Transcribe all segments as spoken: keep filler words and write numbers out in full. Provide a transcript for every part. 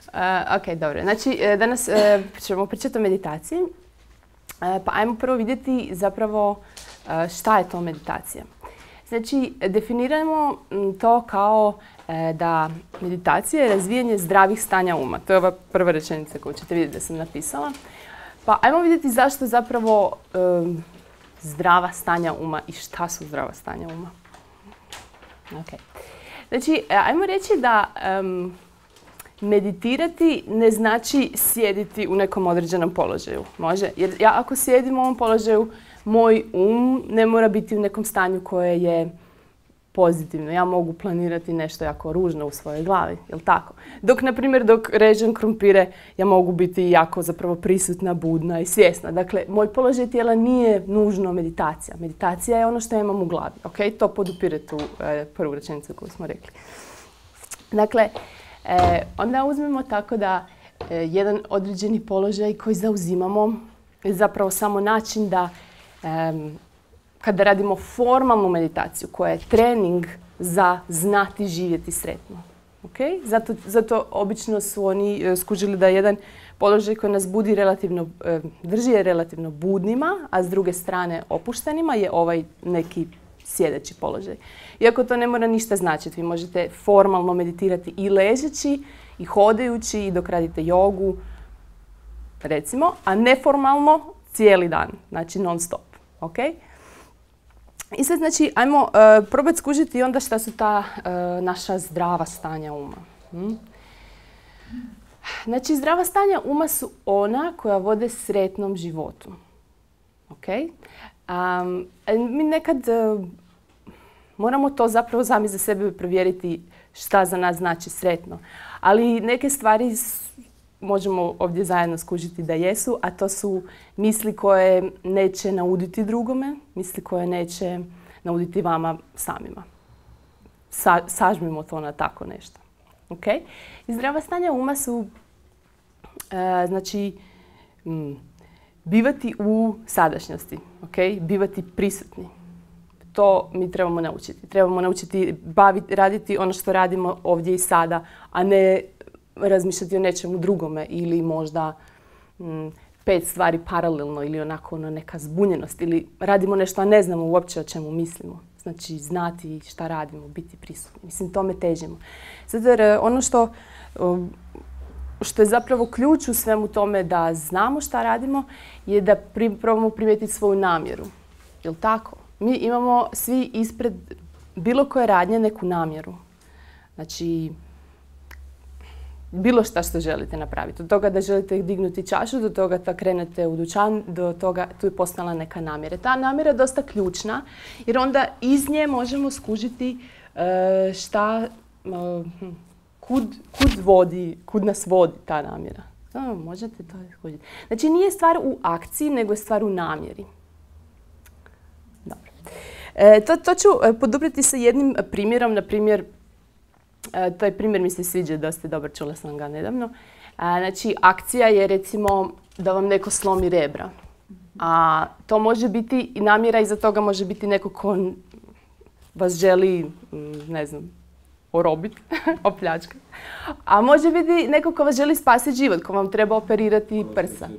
Uh, ok, dobro. Znači, danas uh, ćemo pričati o meditaciji. Uh, pa ajmo prvo vidjeti zapravo uh, šta je to meditacija. Znači, definiramo to kao uh, da meditacija je razvijanje zdravih stanja uma. To je ova prva rečenica koju ćete vidjeti da sam napisala. Pa ajmo vidjeti zašto zapravo um, zdrava stanja uma i šta su zdrava stanja uma. Okay. Znači, ajmo reći da um, meditirati ne znači sjediti u nekom određenom položaju. Može? Jer ja ako sjedim u ovom položaju, moj um ne mora biti u nekom stanju koje je pozitivno. Ja mogu planirati nešto jako ružno u svojoj glavi, jel tako? Dok, na primjer, dok režem krumpire, ja mogu biti jako zapravo prisutna, budna i svjesna. Dakle, moj položaj tijela nije nužno meditacija. Meditacija je ono što ja imam u glavi. Okay? To podupire tu e, prvu rečenicu koju smo rekli. Dakle, e, onda uzmemo tako da e, jedan određeni položaj koji zauzimamo je zapravo samo način da e, kada radimo formalnu meditaciju koja je trening za znati živjeti sretno. Okay? Zato, zato obično su oni uh, skužili da jedan položaj koji nas budi relativno, uh, drži je relativno budnima, a s druge strane opuštenima je ovaj neki sjedeći položaj. Iako to ne mora ništa značiti. Vi možete formalno meditirati i ležeći, i hodajući, i dok radite jogu, recimo, a neformalno cijeli dan, znači non stop. Okay? I sad, znači, ajmo uh, probati skužiti onda šta su ta uh, naša zdrava stanja uma. Hmm? Znači, zdrava stanja uma su ona koja vode sretnom životu. Okay? Um, mi nekad uh, moramo to zapravo sami za sebe provjeriti šta za nas znači sretno. Ali neke stvari možemo ovdje zajedno skužiti da jesu, a to su misli koje neće nauditi drugome, misli koje neće nauditi vama samima. Sa, sažmimo to na tako nešto. Okay? I zdrava stanja uma su e, znači, mm, bivati u sadašnjosti, okay? Bivati prisutni. To mi trebamo naučiti. Trebamo naučiti baviti, raditi ono što radimo ovdje i sada, a ne razmišljati o nečemu drugome ili možda mm, pet stvari paralelno ili onako ono neka zbunjenost ili radimo nešto a ne znamo uopće o čemu mislimo. Znači znati šta radimo, biti prisutni. Mislim, tome težimo. Zato jer ono što, što je zapravo ključ u svemu tome da znamo šta radimo je da pri, probamo primijetiti svoju namjeru. Jel' tako? Mi imamo svi ispred bilo koje radnje neku namjeru. Znači, bilo šta što želite napraviti. Od toga da želite dignuti čašu, do toga da krenete u dućan, do toga tu je postala neka namjera. Ta namjera je dosta ključna jer onda iz nje možemo skužiti uh, šta, uh, kud, kud, vodi, kud nas vodi ta namjera. Oh, možete to skužiti. Znači nije stvar u akciji, nego je stvar u namjeri. Dobro. E, to, to ću poduprijeti sa jednim primjerom, na primjer, E, taj primjer mi se sviđa, dosta dobar, čula sam ga nedavno. E, znači, akcija je recimo da vam neko slomi rebra. A to može biti i namjera iza toga može biti neko ko vas želi, ne znam, orobiti, opljačkati. A može biti neko ko vas želi spasiti život, ko vam treba operirati prsa.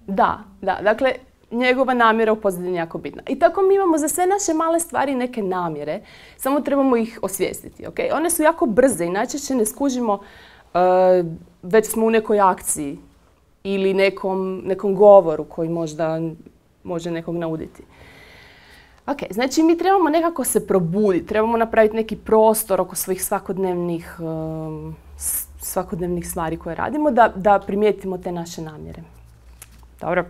Da, da. Dakle, njegova namjera u pozadini je jako bitna. I tako mi imamo za sve naše male stvari neke namjere, samo trebamo ih osvijestiti. Okay? One su jako brze i najčešće ne skužimo uh, već smo u nekoj akciji ili nekom, nekom govoru koji možda može nekog nauditi. Okay, znači mi trebamo nekako se probuditi, trebamo napraviti neki prostor oko svojih svakodnevnih, um, svakodnevnih stvari koje radimo da, da primijetimo te naše namjere. Dobro.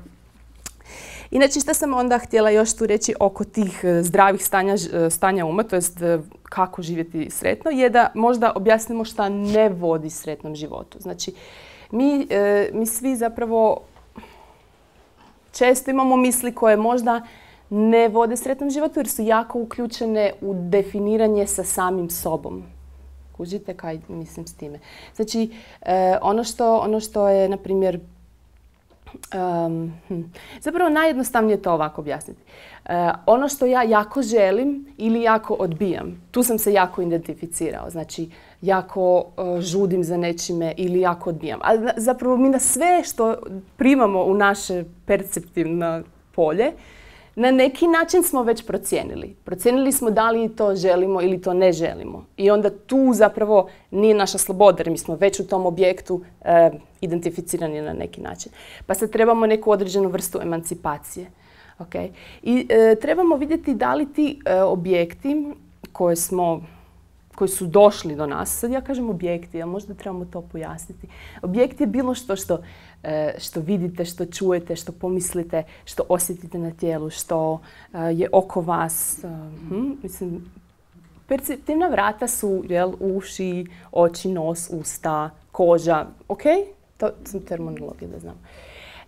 Inače, što sam onda htjela još tu reći oko tih zdravih stanja, stanja uma, to jest kako živjeti sretno, je da možda objasnimo šta ne vodi sretnom životu. Znači, mi, mi svi zapravo često imamo misli koje možda ne vode sretnom životu jer su jako uključene u definiranje sa samim sobom. Kužite kaj mislim s time? Znači, ono što, ono što je, na primjer, Um, hm. Zapravo najjednostavnije je to ovako objasniti. Uh, ono što ja jako želim ili jako odbijam, tu sam se jako identificirao. Znači, jako uh, žudim za nečime ili jako odbijam. A zapravo mi na sve što primamo u naše perceptivno polje, na neki način smo već procijenili. Procijenili smo da li to želimo ili to ne želimo. I onda tu zapravo nije naša sloboda, jer mi smo već u tom objektu e, identificirani na neki način. Pa sad trebamo neku određenu vrstu emancipacije. Okay? I e, trebamo vidjeti da li ti e, objekti koje smo, koji su došli do nas, sad ja kažem objekti, ali možda trebamo to pojasniti. Objekt je bilo što što što vidite, što čujete, što pomislite, što osjetite na tijelu, što je oko vas. Hm, mislim, perceptivna vrata su jel, uši, oči, nos, usta, koža. Ok? To sam terminologija da znam.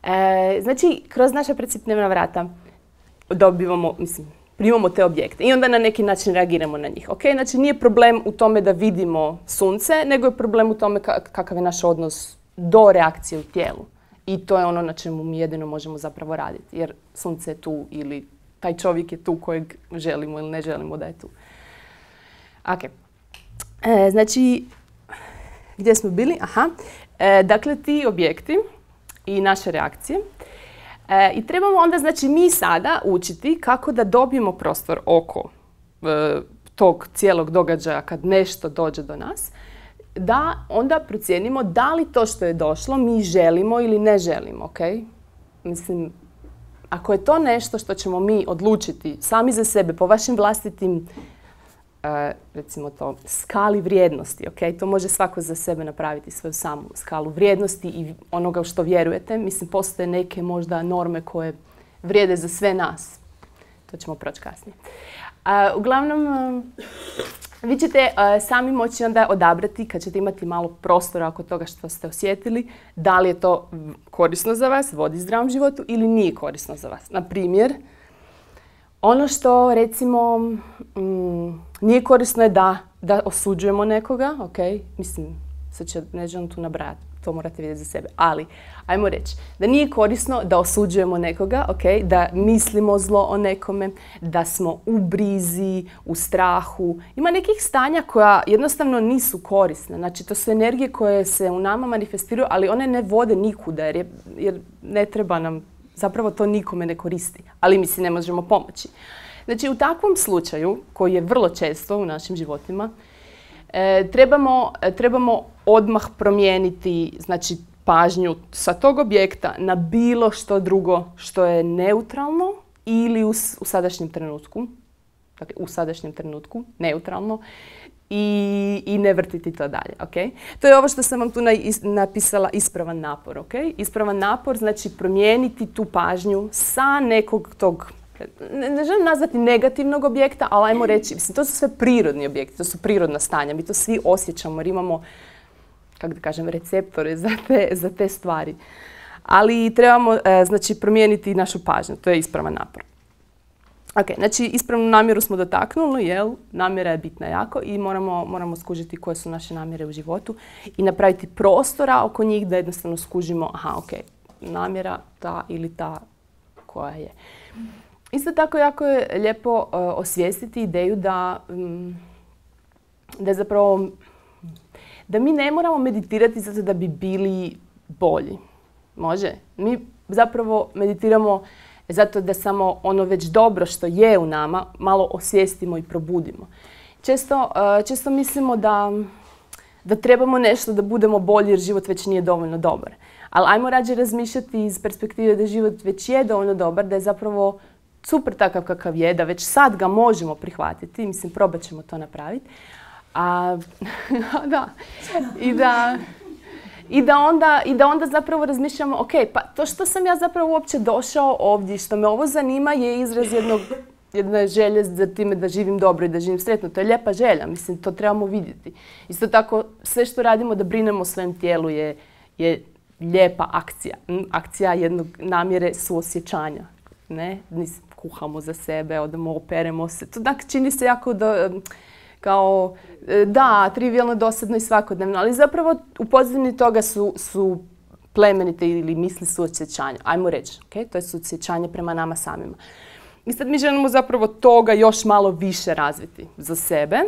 E, znači, kroz naša perceptivna vrata dobivamo, mislim, primamo te objekte i onda na neki način reagiramo na njih. Okay? Znači, nije problem u tome da vidimo sunce, nego je problem u tome kakav je naš odnos do reakcije u tijelu. I to je ono na čemu mi jedino možemo zapravo raditi. Jer sunce je tu ili taj čovjek je tu kojeg želimo ili ne želimo da je tu. Okay. E, znači, gdje smo bili? Aha. E, dakle, ti objekti i naše reakcije. E, I trebamo onda, znači, mi sada učiti kako da dobijemo prostor oko e, tog cijelog događaja kad nešto dođe do nas, da onda procijenimo da li to što je došlo mi želimo ili ne želimo, ok? Mislim, ako je to nešto što ćemo mi odlučiti sami za sebe po vašim vlastitim, uh, recimo to, skali vrijednosti, ok? To može svako za sebe napraviti, svoju samu skalu vrijednosti i onoga u što vjerujete. Mislim, postoje neke možda norme koje vrijede za sve nas. To ćemo proći kasnije. Uh, uglavnom, uh, vi ćete uh, sami moći onda odabrati kad ćete imati malo prostora oko toga što ste osjetili, da li je to korisno za vas, vodi zdravom životu ili nije korisno za vas. Na primjer, ono što recimo mm, nije korisno je da, da osuđujemo nekoga, ok? Mislim, sad će, ne želim tu nabrajati, to morate vidjeti za sebe. Ali, ajmo reći, da nije korisno da osuđujemo nekoga, okay? Da mislimo zlo o nekome, da smo u brizi, u strahu. Ima nekih stanja koja jednostavno nisu korisne. Znači, to su energije koje se u nama manifestiraju, ali one ne vode nikuda jer, je, jer ne treba nam, zapravo to nikome ne koristi. Ali mi si ne možemo pomoći. Znači, u takvom slučaju, koji je vrlo često u našim životima, E, trebamo, trebamo odmah promijeniti znači, pažnju sa tog objekta na bilo što drugo što je neutralno ili u, u sadašnjem trenutku. Dakle, u sadašnjem trenutku, neutralno. I, i ne vrtiti to dalje. Okay? To je ovo što sam vam tu na, is, napisala ispravan napor. Okay? Ispravan napor znači promijeniti tu pažnju sa nekog tog Ne, ne želim nazvati negativnog objekta, ali ajmo reći, mislim, to su sve prirodni objekti, to su prirodna stanja, mi to svi osjećamo jer imamo, kako da kažem, receptore za te, za te stvari. Ali trebamo, e, znači, promijeniti našu pažnju, to je ispravan napor. Ok, znači, ispravnu namjeru smo dotaknuli, jel? Namjera je bitna jako i moramo, moramo skužiti koje su naše namjere u životu i napraviti prostora oko njih da jednostavno skužimo, aha, ok, namjera ta ili ta koja je. Isto tako jako je lijepo uh, osvijestiti ideju da, um, da zapravo da mi ne moramo meditirati zato da bi bili bolji. Može? Mi zapravo meditiramo zato da samo ono već dobro što je u nama malo osvijestimo i probudimo. Često, uh, često mislimo da, da trebamo nešto da budemo bolji jer život već nije dovoljno dobar. Ali ajmo rađe razmišljati iz perspektive da život već je dovoljno dobar, da je zapravo super takav kakav je, da već sad ga možemo prihvatiti, mislim, probat ćemo to napraviti. A, da. I da, i da, onda, i da onda zapravo razmišljamo, ok, pa to što sam ja zapravo uopće došao ovdje, što me ovo zanima je izraz jednog, jedne želje za time da živim dobro i da živim sretno. To je lijepa želja, mislim, to trebamo vidjeti. Isto tako, sve što radimo da brinemo o svojem tijelu je, je lijepa akcija. Akcija jednog namjere suosjećanja. Ne? Kuhamo za sebe, odemo, operemo se. To dakle, čini se jako da, kao, da, trivijalno, dosadno i svakodnevno. Ali zapravo u pozadini toga su, su plemenite ili misli suosjećanja. Ajmo reći, okay? To je suosjećanje prema nama samima. I sad mi želimo zapravo toga još malo više razviti za sebe,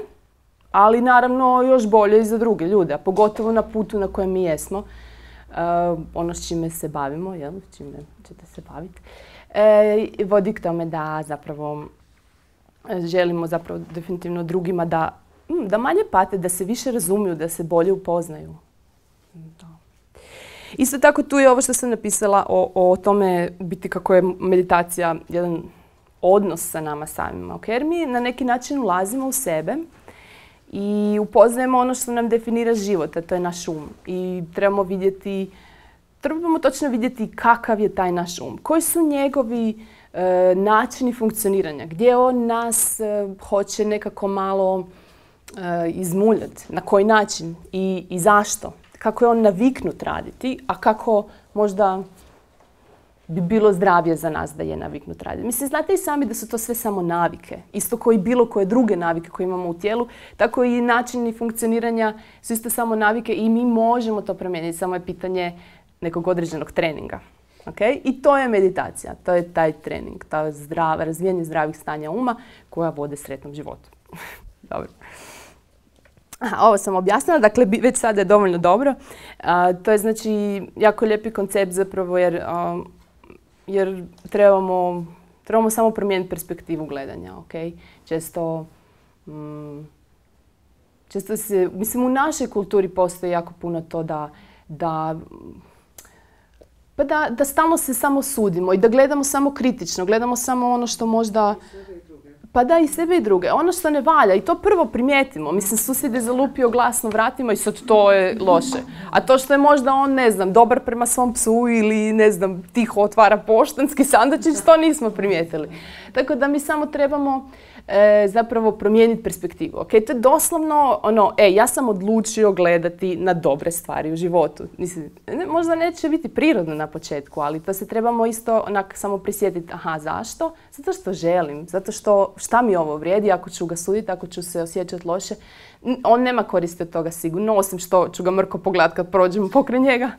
ali naravno još bolje i za druge ljude, a pogotovo na putu na kojem mi jesmo. Uh, ono s čime se bavimo, jel? S čime ćete se baviti. E, vodi k tome da zapravo želimo zapravo definitivno drugima da, da manje pate, da se više razumiju, da se bolje upoznaju. Da. Isto tako tu je ovo što sam napisala o, o tome biti kako je meditacija jedan odnos sa nama samima. Okay? Jer mi na neki način ulazimo u sebe i upoznajemo ono što nam definira život, a to je naš um. I trebamo vidjeti, trebamo točno vidjeti kakav je taj naš um. Koji su njegovi e, načini funkcioniranja, gdje on nas e, hoće nekako malo e, izmuljati, na koji način i, i zašto. Kako je on naviknut raditi, a kako možda bi bilo zdravije za nas da je naviknut raditi. Mislim, znate i sami da su to sve samo navike. Isto kao i bilo koje druge navike koje imamo u tijelu, tako i načini funkcioniranja su isto samo navike i mi možemo to promijeniti. Samo je pitanje nekog određenog treninga. Okay? I to je meditacija. To je taj trening, to zdrav, razvijanje zdravih stanja uma koja vode sretnom životu. Dobro. Aha, ovo sam objasnila, dakle već sada je dovoljno dobro. A, to je znači jako lijepi koncept zapravo jer, a, jer trebamo, trebamo samo promijeniti perspektivu gledanja. Okay? Često, mm, često se, mislim u našoj kulturi postoji jako puno to da, da, pa da, da stalno se samo sudimo i da gledamo samo kritično, gledamo samo ono što možda... Pa da, i sebe i druge. Ono što ne valja, i to prvo primijetimo. Mislim, susjed je zalupio glasno vratima i sad to je loše. A to što je možda on, ne znam, dobar prema svom psu ili, ne znam, tiho otvara poštanski sandučić, to nismo primijetili. Tako da mi samo trebamo e, zapravo promijeniti perspektivu. Okay? To je doslovno ono, e, ja sam odlučio gledati na dobre stvari u životu. Mislim, ne, možda neće biti prirodno na početku, ali to se trebamo isto onak samo prisjetiti. Aha, zašto? Zato što želim. Zato što šta mi ovo vrijedi ako ću ga suditi, ako ću se osjećati loše. On nema koristi od toga sigurno, osim što ću ga mrko pogledati kad prođem pokraj njega.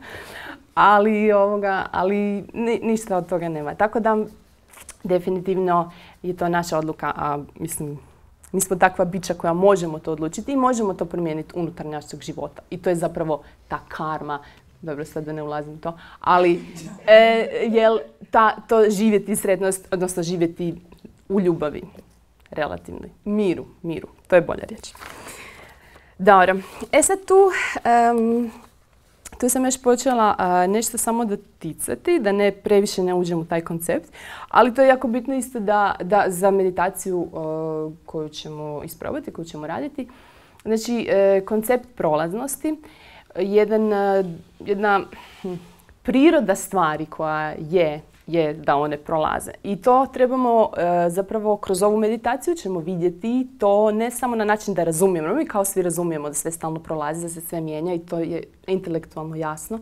Ali, ovoga, ali ni, ništa od toga nema. Tako da definitivno je to naša odluka, a mislim, mi smo takva bića koja možemo to odlučiti i možemo to promijeniti unutar našeg života. I to je zapravo ta karma. Dobro, sad da ne ulazim u to, ali e, jel ta, to živjeti sretnost, odnosno živjeti u ljubavi, relativnoj, miru, miru, to je bolja riječ. Dobro, e sad tu, um, tu sam još počela uh, nešto samo doticati, da ne previše ne uđem u taj koncept, ali to je jako bitno isto da, da za meditaciju uh, koju ćemo isprobati, koju ćemo raditi, znači uh, koncept prolaznosti, jedan, uh, jedna hm, priroda stvari koja je je da one prolaze. I to trebamo e, zapravo kroz ovu meditaciju ćemo vidjeti to ne samo na način da razumijemo. Mi kao svi razumijemo da sve stalno prolazi, da se sve mijenja i to je intelektualno jasno.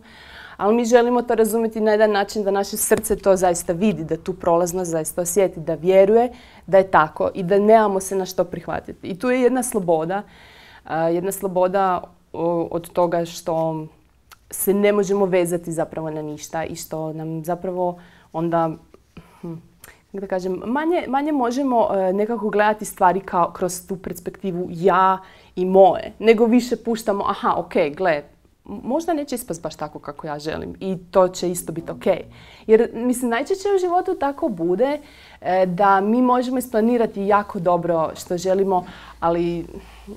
Ali mi želimo to razumjeti na jedan način da naše srce to zaista vidi, da tu prolaznost zaista osjeti, da vjeruje da je tako i da nemamo se na što prihvatiti. I tu je jedna sloboda, e, jedna sloboda o, od toga što se ne možemo vezati zapravo na ništa i što nam zapravo onda, hm, da kažem, manje, manje možemo e, nekako gledati stvari kao kroz tu perspektivu ja i moje, nego više puštamo, aha, ok, gle, možda neće ispast baš tako kako ja želim i to će isto biti ok. Jer, mislim, najčešće u životu tako bude e, da mi možemo isplanirati jako dobro što želimo, ali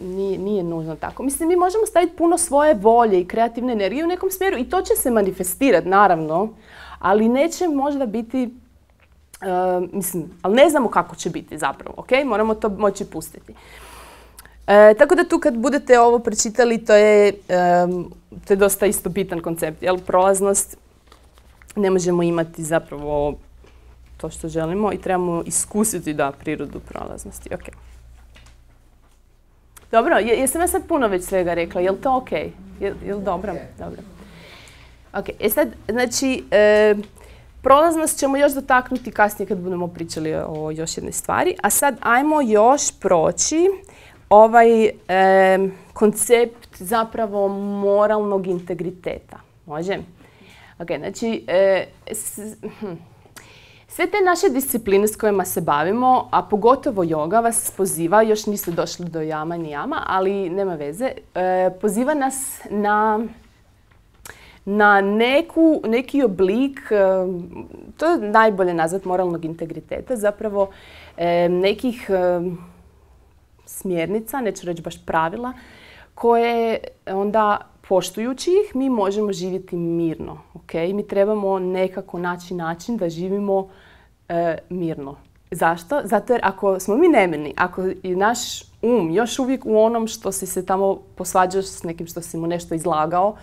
nije, nije nužno tako. Mislim, mi možemo staviti puno svoje volje i kreativne energije u nekom smjeru i to će se manifestirati, naravno, ali neće možda biti, uh, mislim, ali ne znamo kako će biti zapravo, ok? Moramo to moći pustiti. E, tako da tu kad budete ovo pročitali, to je, um, to je dosta isto bitan koncept, jel? Prolaznost ne možemo imati zapravo to što želimo i trebamo iskusiti da prirodu prolaznosti, ok? Dobro, je, jesam ja sad puno već svega rekla, je li to ok? Je, je li dobro? Dobro. Ok, e sad, znači, e, prolaznost ćemo još dotaknuti kasnije kad budemo pričali o još jednoj stvari, a sad ajmo još proći ovaj e, koncept zapravo moralnog integriteta. Može? Ok, znači, e, s, hm. sve te naše discipline s kojima se bavimo, a pogotovo joga vas poziva, još niste došli do jama ni jama, ali nema veze, e, poziva nas na, na neku, neki oblik, e, to je najbolje nazvat moralnog integriteta, zapravo e, nekih e, smjernica, neću reći baš pravila, koje onda poštujući ih mi možemo živjeti mirno. Okay? Mi trebamo nekako naći način da živimo e, mirno. Zašto? Zato jer ako smo mi nemirni, ako je naš um još uvijek u onom što si se tamo posvađaš s nekim što si mu nešto izlagao,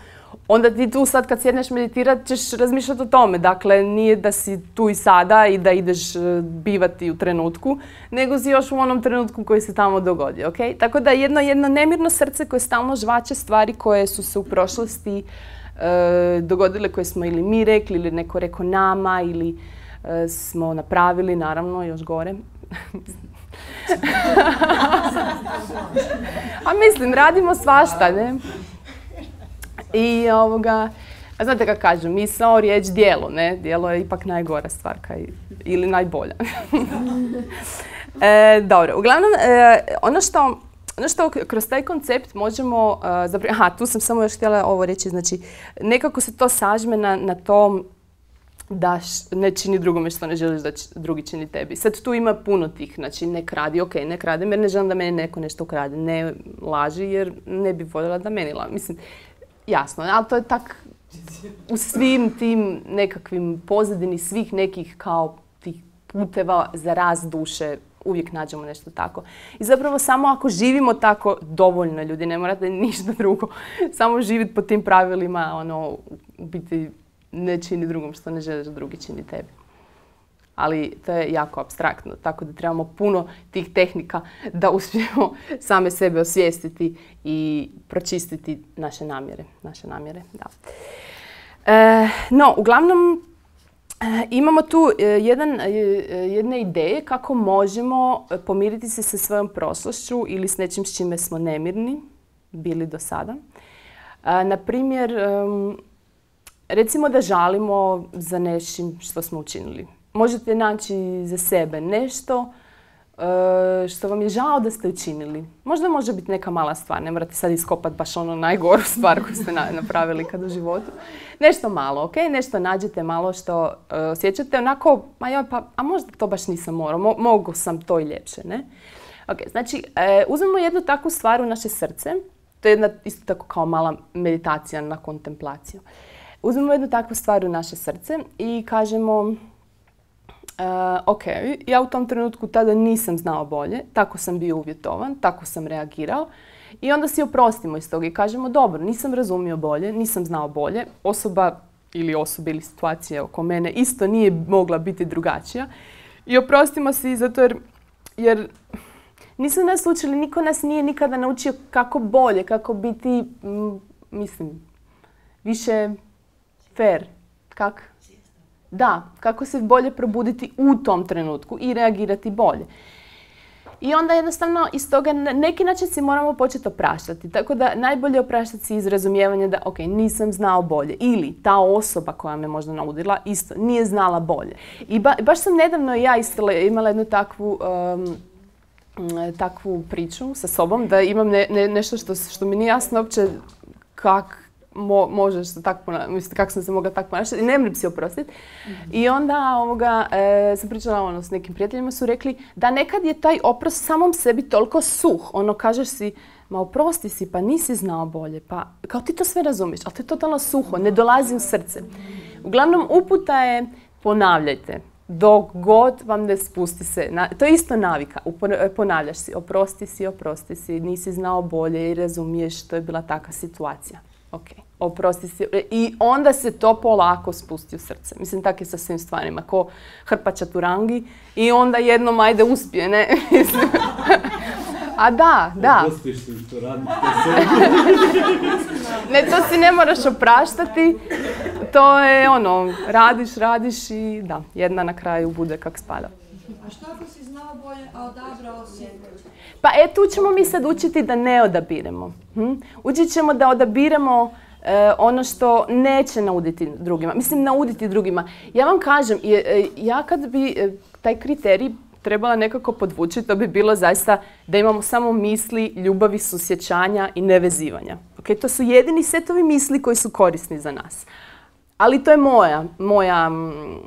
onda ti tu sad kad sjedneš meditirat ćeš razmišljati o tome. Dakle, nije da si tu i sada i da ideš bivati u trenutku, nego si još u onom trenutku koji se tamo dogodi. Okay? Tako da jedno, jedno nemirno srce koje stalno žvače stvari koje su se u prošlosti e, dogodile, koje smo ili mi rekli ili neko rekao nama ili e, smo napravili, naravno, još gore. A mislim, radimo svašta, ne? I ovoga, a znate kako kažu, misao, riječ, djelo, ne? Djelo je ipak najgora stvar, kaj, ili najbolja. e, dobro, uglavnom, e, ono što, ono što kroz taj koncept možemo, e, zapravo, aha, tu sam samo još htjela ovo reći, znači, nekako se to sažme na, na to da š, ne čini drugome što ne želiš da č, drugi čini tebi. Sad tu ima puno tih, znači ne kradi, ok, ne kradem jer ne želim da meni neko nešto ukrade, ne laži jer ne bi voljela da meni laži. Mislim, jasno, ali to je tak u svim tim nekakvim pozadini svih nekih kao tih puteva za rast duše uvijek nađemo nešto tako. I zapravo samo ako živimo tako, dovoljno ljudi, ne morate ništa drugo, samo živjeti po tim pravilima, ono, biti ne čini drugom što ne želiš da drugi čini tebi. Ali to je jako apstraktno, tako da trebamo puno tih tehnika da uspijemo same sebe osvijestiti i pročistiti naše namjere. Naše namjere, da. E, no, uglavnom, e, imamo tu e, jedan, e, jedne ideje kako možemo pomiriti se sa svojom prošlošću ili s nečim s čime smo nemirni bili do sada. E, na primjer, e, recimo da žalimo za nečim što smo učinili. Možete naći za sebe nešto uh, što vam je žao da ste učinili. Možda može biti neka mala stvar, ne morate sad iskopati baš ono najgoru stvar koju ste na, napravili kad u životu. Nešto malo, ok? Nešto nađete malo što uh, osjećate onako, ma joj, pa, a možda to baš nisam morao, mo- mogu sam to i ljepše, ne? Ok, znači, uh, uzmemo jednu takvu stvar u naše srce, to je jedna isto tako kao mala meditacija na kontemplaciju. Uzmemo jednu takvu stvar u naše srce i kažemo, Uh, ok, ja u tom trenutku tada nisam znao bolje, tako sam bio uvjetovan, tako sam reagirao i onda si oprostimo iz toga i kažemo dobro, nisam razumio bolje, nisam znao bolje, osoba ili osoba ili situacija oko mene isto nije mogla biti drugačija i oprostimo si zato jer, jer nisu nas učili, niko nas nije nikada naučio kako bolje, kako biti, m, mislim, više fair, kak? Da, kako se bolje probuditi u tom trenutku i reagirati bolje. I onda jednostavno iz toga na neki način si moramo početi opraštati. Tako da najbolje opraštati si iz razumijevanja da ok, nisam znao bolje. Ili ta osoba koja me možda naudila isto nije znala bolje. I ba, baš sam nedavno ja isto imala jednu takvu, um, takvu priču sa sobom da imam ne, ne, nešto što, što mi nije jasno uopće kak Mo, možeš se tako ponašati, mislim, kako sam se mogla tako ponašati i ne moram si oprostiti. Mm-hmm. I onda ovoga, e, sam pričala ono, s nekim prijateljima, su rekli da nekad je taj oprost samom sebi toliko suh. Ono, kažeš si, ma oprosti si, pa nisi znao bolje, pa kao ti to sve razumiješ, ali to je totalno suho, ne dolazi u srce. Uglavnom, uputa je ponavljajte. Dok god vam ne spusti se, na, to je isto navika, ponavljaš si, oprosti si, oprosti si, nisi znao bolje i razumiješ, to je bila takva situacija. Ok, oprosti si. I onda se to polako spusti u srce. Mislim, tako je sa svim stvarima. Ko hrpa čaturangi i onda jednom ajde uspije, ne? A da, da. Oprostiš si to raditi. Ne, to si ne moraš opraštati. To je ono, radiš, radiš i da, jedna na kraju bude kak spada. A što ako si znao bolje, a odabrao si? Pa e, tu ćemo mi sad učiti da ne odabiremo. Hm? Učit ćemo da odabiremo e, ono što neće nauditi drugima. Mislim, nauditi drugima. Ja vam kažem, je, ja kad bi e, taj kriterij trebala nekako podvući, to bi bilo zaista da imamo samo misli, ljubavi, susjećanja i nevezivanja. Okay? To su jedini setovi misli koji su korisni za nas. Ali to je moja, moja,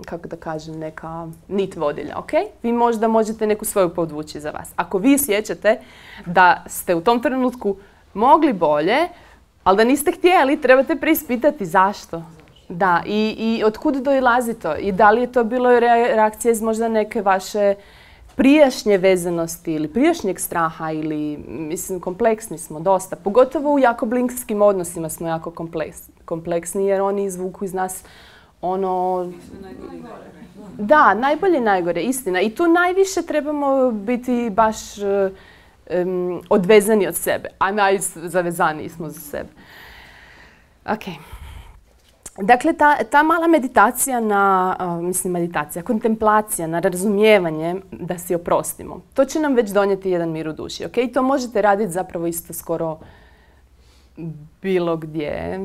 kako da kažem, neka nit vodilja, ok? Vi možda možete neku svoju podvući za vas. Ako vi osjećate da ste u tom trenutku mogli bolje, ali da niste htjeli, trebate preispitati zašto. Da, i, i otkud dolazi to? I da li je to bilo reakcija iz možda neke vaše prijašnje vezanosti ili prijašnjeg straha ili, mislim, kompleksni smo dosta. Pogotovo u jako bliskim odnosima smo jako kompleks, kompleksni jer oni izvuku iz nas ono... Da, najbolje i najgore, istina. I tu najviše trebamo biti baš um, odvezani od sebe, a najzavezaniji smo za sebe. Ok. Dakle, ta, ta mala meditacija na, uh, mislim meditacija, kontemplacija na razumijevanje da si oprostimo. To će nam već donijeti jedan mir u duši, ok? I to možete raditi zapravo isto skoro bilo gdje.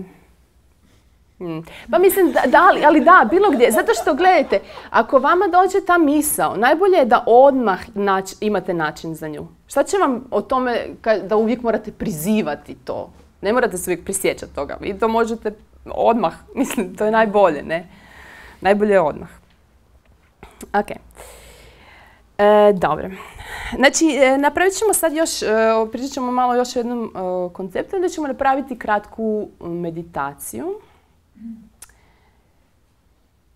Hmm. Pa mislim, da, da, ali da, bilo gdje. Zato što, gledajte, ako vama dođe ta misao, najbolje je da odmah nač, imate način za nju. Šta će vam o tome da uvijek morate prizivati to? Ne morate se uvijek prisjećati toga. Vi to možete odmah, mislim, to je najbolje, ne? Najbolje je odmah. Ok. E, dobro. Znači, e, napravit ćemo sad još, e, pričat ćemo malo još o jednom e, konceptu, da ćemo napraviti kratku meditaciju.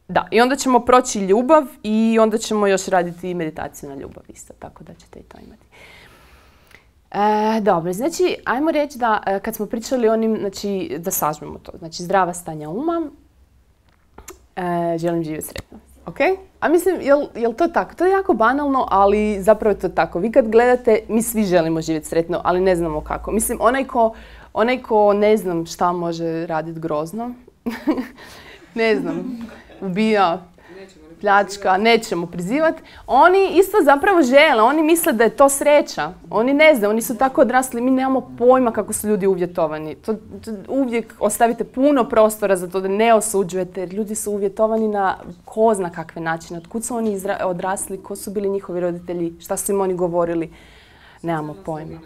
Da, i onda ćemo proći ljubav i onda ćemo još raditi meditaciju na ljubav isto, tako da ćete i to imati. E, dobro, znači, ajmo reći da e, kad smo pričali o onim, znači, da sažmemo to. Znači, zdrava stanja uma, e, želim živjeti sretno. Ok? A mislim, jel, jel to tako? To je jako banalno, ali zapravo je to tako. Vi kad gledate, mi svi želimo živjeti sretno, ali ne znamo kako. Mislim, onaj ko, onaj ko ne znam šta može raditi grozno, ne znam, ubija, pljačka, nećemo prizivati. Oni isto zapravo žele, oni misle da je to sreća. Oni ne znaju, oni su tako odrasli, mi nemamo pojma kako su ljudi uvjetovani. To, to, uvijek ostavite puno prostora za to da ne osuđujete, jer ljudi su uvjetovani na ko zna kakve načine. Otkud su oni izra, odrasli, ko su bili njihovi roditelji, šta su im oni govorili, nemamo pojma.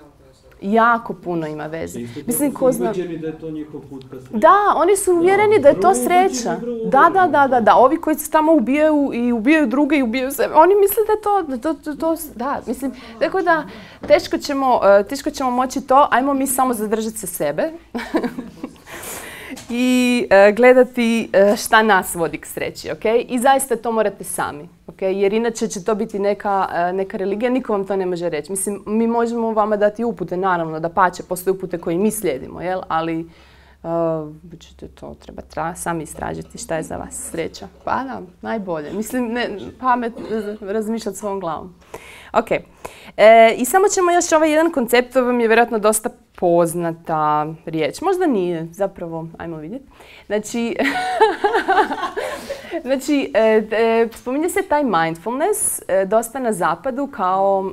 Jako puno ima veze. Mislim, ko zna... da je to njihov put ka sreći. Da, oni su uvjereni da je to sreća. Da, da, da, da, da. Ovi koji se tamo ubijaju i ubijaju druge i ubijaju sebe, oni misle da je to, da to, to, to da, mislim, tako da teško ćemo, teško ćemo moći to, ajmo mi samo zadržati se sebe i uh, gledati uh, šta nas vodi k sreći, ok? I zaista to morate sami, ok? Jer inače će to biti neka, uh, neka religija, niko vam to ne može reći. Mislim, mi možemo vama dati upute, naravno, da pače, postoje upute koje mi slijedimo, jel? Ali uh, ćete to treba tra, sami istražiti šta je za vas sreća. Pa da, najbolje. Mislim, ne, pamet razmišljati svojom glavom. Ok. E, I samo ćemo još ovaj jedan koncept, to vam je vjerojatno dosta poznata riječ. Možda nije, zapravo, ajmo vidjeti. Znači, znači e, e, spominje se taj mindfulness e, dosta na zapadu kao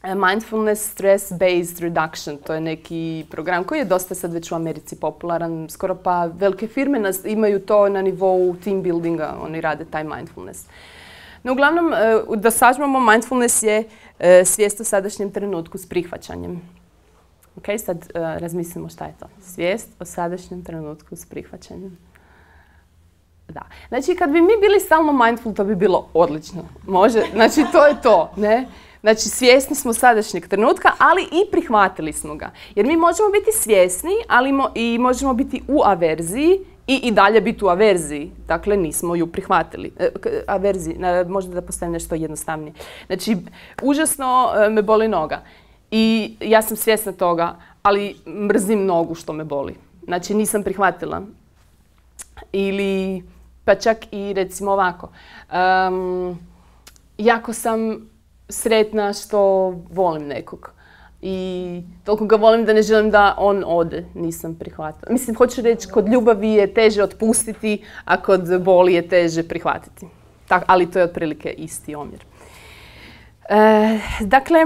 mindfulness stress-based reduction. To je neki program koji je dosta sad već u Americi popularan. Skoro pa velike firme nas, imaju to na nivou team buildinga, oni rade taj mindfulness. No, uglavnom, da sažmemo, mindfulness je svijest o sadašnjem trenutku s prihvaćanjem. Ok, sad uh, razmislimo šta je to. Svijest o sadašnjem trenutku s prihvaćanjem. Da. Znači, kad bi mi bili stalno mindful, to bi bilo odlično. Može, znači, to je to, ne? Znači, svjesni smo sadašnjeg trenutka, ali i prihvatili smo ga. Jer mi možemo biti svjesni, ali mo i možemo biti u averziji i, i dalje biti u averziji. Dakle, nismo ju prihvatili. E, averziji, možda da postavim nešto jednostavnije. Znači, užasno e, me boli noga. I ja sam svjesna toga, ali mrzim nogu što me boli. Znači, nisam prihvatila. Ili, pa čak i recimo ovako. Um, jako sam sretna što volim nekog. I toliko ga volim da ne želim da on ode. Nisam prihvatila. Mislim, hoću reći, kod ljubavi je teže otpustiti, a kod boli je teže prihvatiti. Tak, ali to je otprilike isti omjer. E, dakle,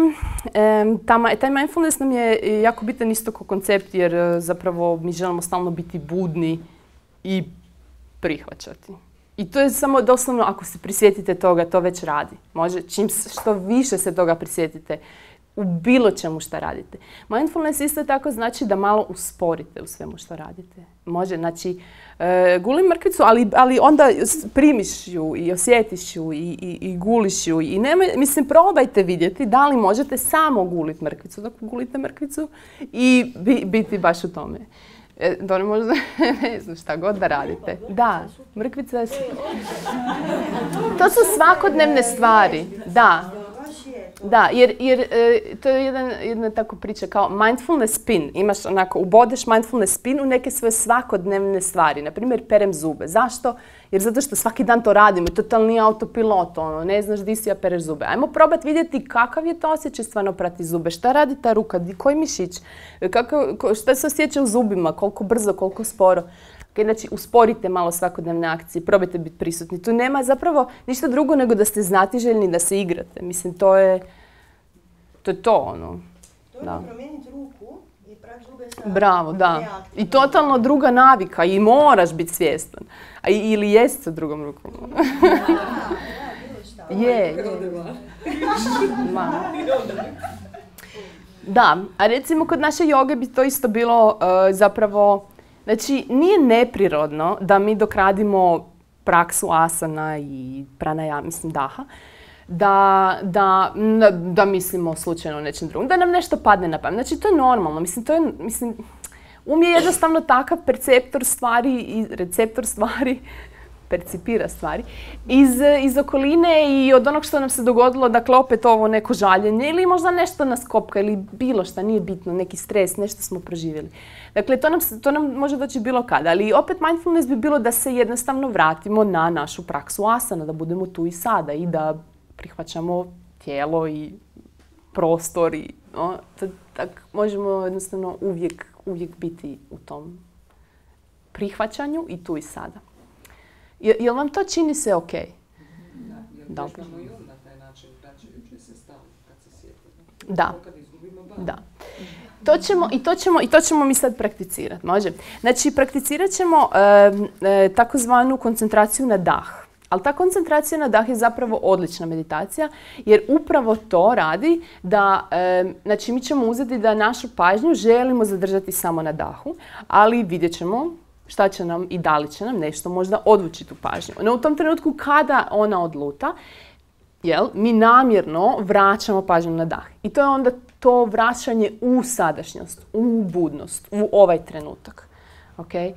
e, ta, taj mindfulness nam je jako bitan isto kao koncept jer zapravo mi želimo stalno biti budni i prihvaćati. I to je samo doslovno ako se prisjetite toga, to već radi. Može, čim što više se toga prisjetite u bilo čemu što radite. Mindfulness isto tako znači da malo usporite u svemu što radite. Može, znači, e, gulim mrkvicu, ali, ali onda primiš ju i osjetiš ju i, i, i guliš ju. I nema, mislim, probajte vidjeti da li možete samo guliti mrkvicu dok gulite mrkvicu i bi, biti baš u tome. E, to ne možda, ne znam šta god da radite. Da, mrkvica je... To su svakodnevne stvari, da. Da, jer, jer e, to je jedan, jedna tako priča kao mindfulness spin. Imaš onako, ubodeš mindfulness spin u neke svoje svakodnevne stvari. Naprimjer, perem zube. Zašto? Jer zato što svaki dan to radimo, totalni autopilot, ono, ne znaš di si, ja pereš zube. Ajmo probati vidjeti kakav je to osjećaj stvarno prati zube, šta radi ta ruka, koji mišić, kako, šta se osjeća u zubima, koliko brzo, koliko sporo. Okay, znači, usporite malo svakodnevne akcije, probajte biti prisutni. Tu nema zapravo ništa drugo nego da ste znatiželjni, da se igrate. Mislim, to je to, je to ono. To je da promijeniti ruku i pravi zube sa... Bravo, da. I totalno druga navika i moraš biti svjestan. A, ili jest sa drugom rukom. Je. Da, a recimo kod naše joge bi to isto bilo uh, zapravo... Znači, nije neprirodno da mi dok radimo praksu asana i pranajama, mislim daha, da, da, da mislimo slučajno o nečem drugom, da nam nešto padne na pamet. Znači, to je normalno. Mislim, to je, mislim, um je jednostavno takav perceptor stvari i receptor stvari, percipira stvari, iz, iz okoline i od onog što nam se dogodilo, dakle, opet ovo neko žaljenje ili možda nešto nas kopka ili bilo šta, nije bitno, neki stres, nešto smo proživjeli. Dakle, to nam, to nam može doći bilo kada, ali opet mindfulness bi bilo da se jednostavno vratimo na našu praksu asana, da budemo tu i sada i da prihvaćamo tijelo i prostor i no, to, tak, možemo jednostavno uvijek, uvijek biti u tom prihvaćanju i tu i sada. Je, jel vam to čini se ok? Da, jer možemo i on na taj način vraćajući se stalno kad se sjetimo. Da. Kad izgubimo bar. Da. To ćemo, i, to ćemo, I to ćemo mi sad prakticirati, može? Znači, prakticirat ćemo e, e, takozvanu koncentraciju na dah. Ali ta koncentracija na dah je zapravo odlična meditacija, jer upravo to radi da, e, znači mi ćemo uzeti da našu pažnju želimo zadržati samo na dahu, ali vidjet ćemo šta će nam i da li će nam nešto možda odvući tu pažnju. No u tom trenutku kada ona odluta, jel, mi namjerno vraćamo pažnju na dah. I to je onda to vraćanje u sadašnjost, u budnost, u ovaj trenutak. Okay?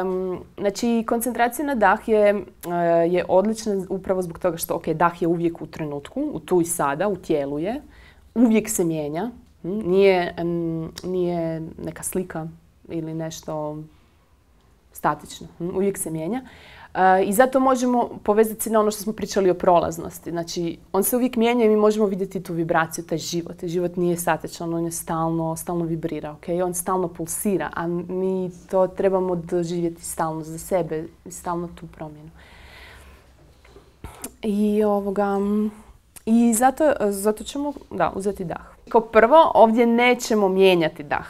Um, znači, koncentracija na dah je, uh, je odlična upravo zbog toga što okay, dah je uvijek u trenutku, u tu i sada, u tijelu je. Uvijek se mijenja. Nije, um, nije neka slika ili nešto statično. Uvijek se mijenja. Uh, I zato možemo povezati se na ono što smo pričali o prolaznosti. Znači, on se uvijek mijenja i mi možemo vidjeti tu vibraciju, taj život. Život nije statičan, on je stalno, stalno vibrira, okay? On stalno pulsira, a mi to trebamo doživjeti stalno za sebe, stalno tu promjenu. I, ovoga, i zato, zato ćemo da, uzeti dah. Kao prvo, ovdje nećemo mijenjati dah.